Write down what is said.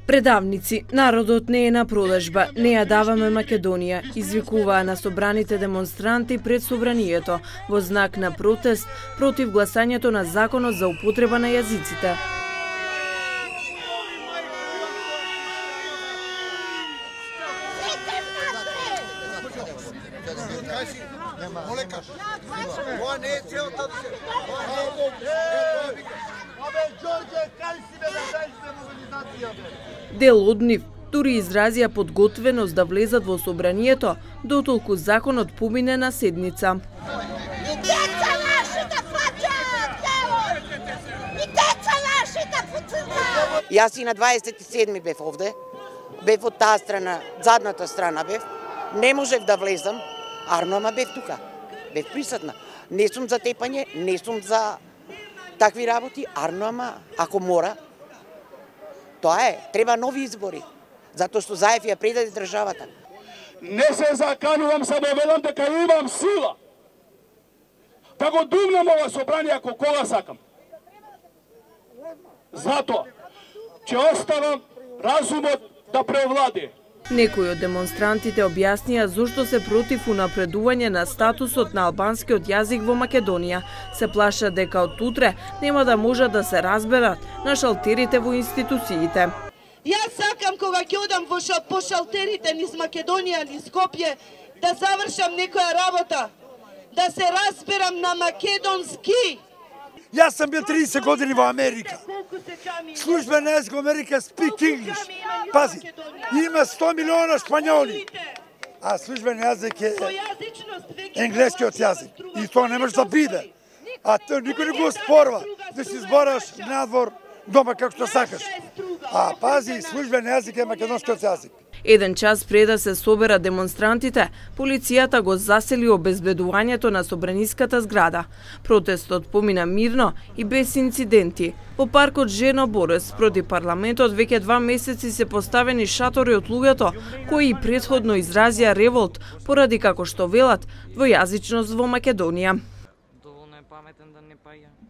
Предавници, народот не е на продажба, не ја даваме Македонија, извикуваа на собраните демонстранти пред собранието во знак на протест против гласањето на законот за употреба на јазиците. Дел од нив дури изразија подготвеност да влезат во собранието, дотолку законот помине на седница. Јас и на 27 бев овде, бев од таа страна, задната страна бев, не можев да влезам, ама бев тука, бев присутна. Не сум за тепање, не сум за такви работи, ама ако мора, тоа е, треба нови избори, затоа што Заев ја предаде државата. Не се заканувам, само велам дека имам сила да го думнам ова собрание ако кога сакам. Затоа ќе оставам разумот да преовладее. Некои од демонстрантите објаснија зошто се против унапредување на статусот на албанскиот јазик во Македонија. Се плашат дека од утре нема да можат да се разберат на шалтерите во институциите. Јас сакам кога ќе одам по шалтерите низ Македонија, низ Скопје, да завршам некоја работа, да се разберам на македонски. Јас сам бил 30 години во Америка. Службен јазик во Америка speak English. Пази, има 100 милиона шпањоли, а службен јазик е енглескиот јазик. И тоа не може да биде. А тоа никој не го спорва да си збораш надвор дома како што сакаш. А пази, службен јазик е македонскиот јазик. Еден час пред да се собера демонстрантите, полицијата го засели обезбедувањето на собраниската зграда. Протестот помина мирно и без инциденти. Во паркот Жено Борес проти парламентот веќе 2 месеци се поставени шатори од луѓето кои претходно изразија револт поради, како што велат, двојазичност во Македонија. Доволно е паметен да не паѓа.